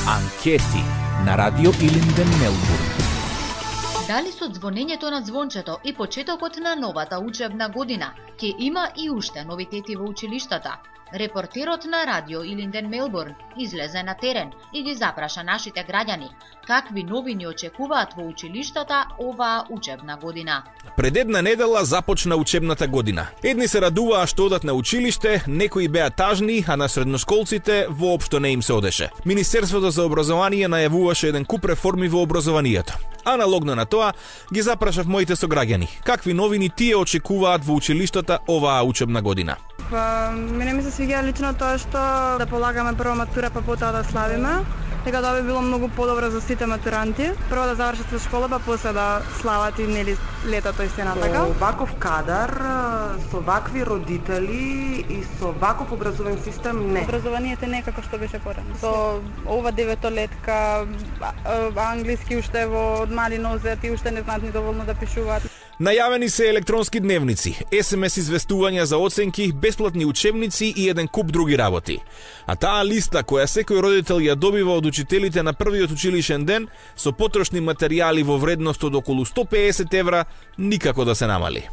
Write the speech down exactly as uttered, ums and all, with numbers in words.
Анкети на Радио Илинден, Мелбурн. Дали со звонењето на звончето и почетокот на новата учебна година ќе има и уште новитети во училиштата? Репортерот на Радио Илинден, Мелбурн излезе на терен и ги запраша нашите граѓани какви новини очекуваат во училиштата оваа учебна година. Пред една недела започна учебната година. Едни се радуваа што одат на училиште, некои беа тажни, а на средношколците воопшто не им се одеше. Министерството за образование најавуваше еден куп реформи во образованието. Аналогно на тоа, ги запрашав моите сограѓани какви новини тие очекуваат во училиштата оваа учебна година. Па, мене ми се свиѓа лично тоа што да полагаме прво матура, па потоа да славиме. Дека тоа би било многу подобро за сите матуранти. Прво да завршат со школа, па после да слават и нели летото и се натака. Со ваков кадар, со вакви родители и со ваков образовен систем не. Образованието не е како што беше порано. Со ова деветолетка, англиски уште во мали нозет и уште не знаат ни доволно да пишуваат. Најавени се електронски дневници, ес ем ес известувања за оценки, бесплатни учебници и еден куп други работи. А таа листа која секој родител ја добива од учителите на првиот училишен ден со потрошни материјали во вредност од околу сто пеесет евра никако да се намали.